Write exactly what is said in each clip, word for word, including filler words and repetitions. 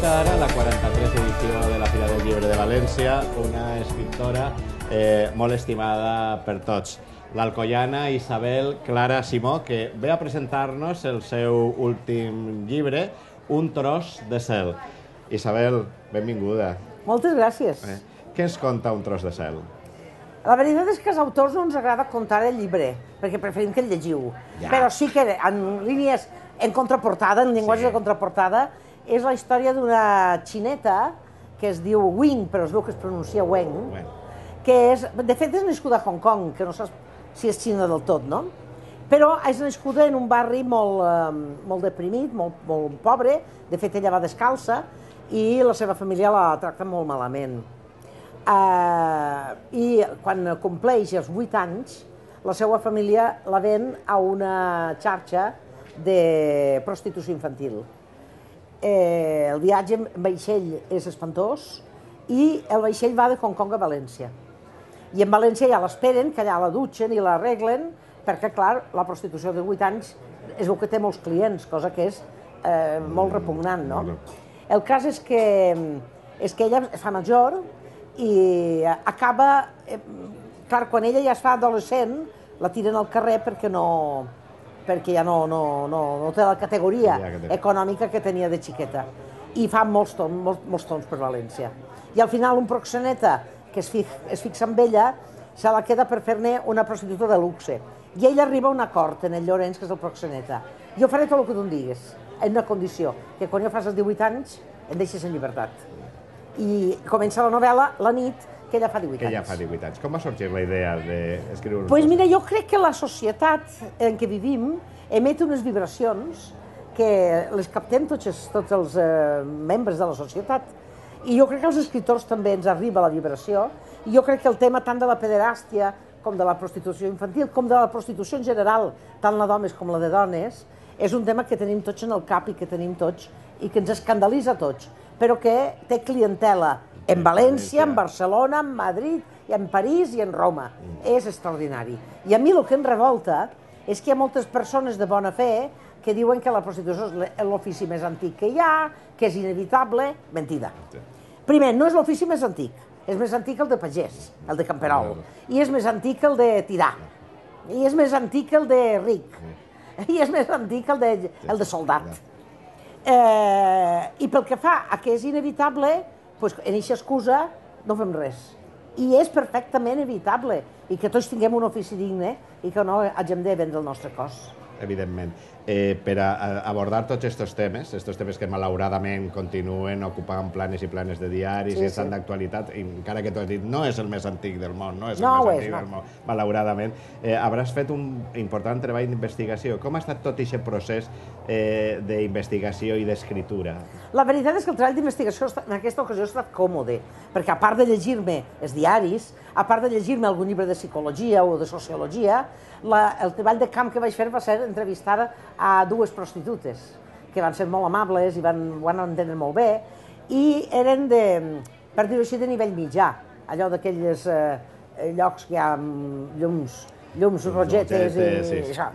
Comença ara la quaranta-tresena edició de la Fira del Llibre de València, una escriptora eh, molt estimada per tots, l'alcoiana Isabel Clara Simó, que ve a presentar-nos el seu últim llibre, Un tros de cel. Isabel, benvinguda. Moltes gràcies. Eh, què ens conta Un tros de cel? La veritat és que als autors no ens agrada contar el llibre, perquè preferim que el llegiu. Ja. Però sí que en línies, en contraportada, en llenguatge Sí. de contraportada, és la història d'una xineta que es diu Wing, però es veu que es pronuncia Wen, Bueno, que és, de fet és nascuda a Hong Kong, que no saps si és xina del tot, no? Però és nascuda en un barri molt, eh, molt deprimit, molt, molt pobre, de fet ella va descalça, i la seva família la tracta molt malament. Uh, I quan compleix els vuit anys, la seva família la ven a una xarxa de prostitució infantil. Eh, el viatge en vaixell és espantós i el vaixell va de Hong Kong a València. I en València ja l'esperen, que allà la dutxen i l'arreglen, perquè, clar, la prostitució de vuit anys es veu que té molts clients, cosa que és eh, molt repugnant, no? El cas és que, és que ella es fa major i acaba... Eh, clar, quan ella ja es fa adolescent, la tiren al carrer perquè no... perquè ja no, no, no, no té la categoria econòmica que tenia de xiqueta. I fa molts tons, molts, molts tons per València. I al final un proxeneta que es, fix, es fixa amb ella se la queda per fer-ne una prostituta de luxe. I ell arriba a un acord en el Llorenç, que és el proxeneta. Jo faré tot el que tu em digues, en una condició, que quan jo fas els divuit anys em deixes en llibertat. I comença la novel·la la nit que ella fa divuit anys. Que ella fa divuit anys. Com va sorgir la idea d'escriure un Doncs pues mira, jo crec que la societat en què vivim emet unes vibracions que les captem tots, tots els eh, membres de la societat. I jo crec que als escriptors també ens arriba la vibració. I jo crec que el tema tant de la pederàstia com de la prostitució infantil, com de la prostitució en general, tant la d'homes com la de dones, és un tema que tenim tots en el cap i que tenim tots i que ens escandalitza a tots, però que té clientela en València, en Barcelona, en Madrid, en París i en Roma. És extraordinari. I a mi el que em revolta és que hi ha moltes persones de bona fe que diuen que la prostitució és l'ofici més antic que hi ha, que és inevitable. Mentida. Primer, no és l'ofici més antic. És més antic el de pagès, el de camperol. I és més antic el de tirà. I és més antic el de ric. I és més antic el de, el de soldat. Eh, I pel que fa a que és inevitable, doncs en aquesta excusa no fem res. I és perfectament evitable. I que tots tinguem un ofici digne i que no hàgim de vendre el nostre cos. Evidentment. Eh, per a, a abordar tots aquests temes, aquests temes que malauradament continuen ocupant planes i planes de diaris sí, i estan sí. d'actualitat, encara que tu has dit no és el més antic del món, no és el no més és, antic no. del món, malauradament, eh, hauràs fet un important treball d'investigació. Com ha estat tot aquest procés eh, d'investigació i d'escriptura? La veritat és que el treball d'investigació en aquesta ocasió ha estat còmode, perquè a part de llegir-me els diaris, a part de llegir-me algun llibre de psicologia o de sociologia, la, el treball de camp que vaig fer va ser entrevistar a dues prostitutes, que van ser molt amables i van, van entendre molt bé, i eren de, per dir-ho així, de nivell mitjà, allò d'aquells eh, llocs que hi ha llums, llums rogetes i, sí. i això.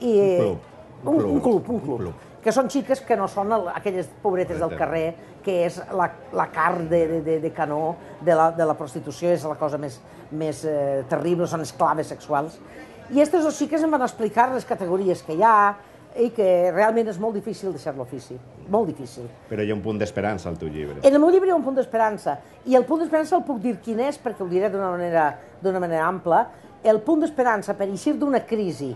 I, un club. Un, un, un club, un club. club. Que són xiques que no són el, aquelles pobretes del carrer, que és la, la carn de, de, de canó de la, de la prostitució, és la cosa més, més eh, terrible, són esclaves sexuals. I aquestes dos xiques em van explicar les categories que hi ha i que realment és molt difícil deixar l'ofici, molt difícil. Però hi ha un punt d'esperança al teu llibre. En el meu llibre hi ha un punt d'esperança, i el punt d'esperança el puc dir quin és, perquè ho diré d'una manera, d'una manera ampla. El punt d'esperança per eixir d'una crisi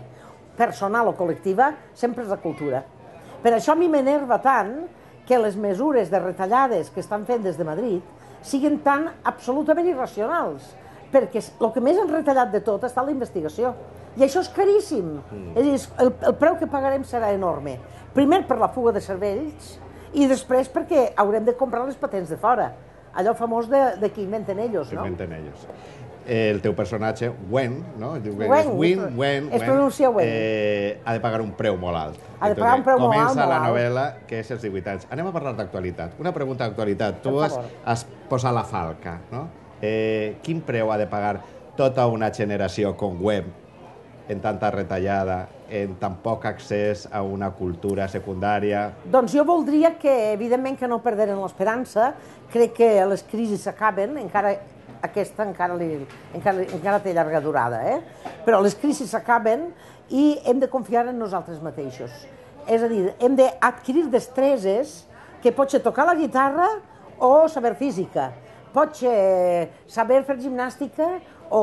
personal o col·lectiva sempre és la cultura. Per això a mi m'enerva tant que les mesures de retallades que estan fent des de Madrid siguin tan absolutament irracionals, perquè el que més han retallat de tot està la investigació. I això és caríssim. Mm. És a dir, el, el preu que pagarem serà enorme. Primer per la fuga de cervells i després perquè haurem de comprar les patents de fora. Allò famós de, de que inventen ells, no? Inventen ells. El teu personatge, Wen, no? Wen, Win, Wen, es pronuncia Wen. Eh, ha de pagar un preu molt alt. Ha de pagar un preu molt alt, Comença molt la alt. novel·la, que és els divuit anys. Anem a parlar d'actualitat. Una pregunta d'actualitat. Tu has, has posat la falca, no? Eh, quin preu ha de pagar tota una generació com Web en tanta retallada en tan poc accés a una cultura secundària? Doncs jo voldria que, evidentment, que no perderen l'esperança. Crec que les crisis s'acaben, encara aquesta encara, li, encara, encara té llarga durada, eh? Però les crisis s'acaben i hem de confiar en nosaltres mateixos. És a dir, hem d'adquirir destreses que pot ser tocar la guitarra o saber física, pot ser saber fer gimnàstica o,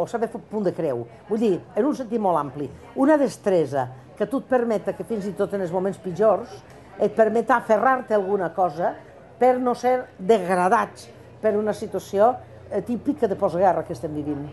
o saber fer punt de creu. Vull dir, en un sentit molt ampli, una destresa que tu et permeta que fins i tot en els moments pitjors et permeta aferrar-te a alguna cosa per no ser degradats per una situació típica de postguerra que estem vivint.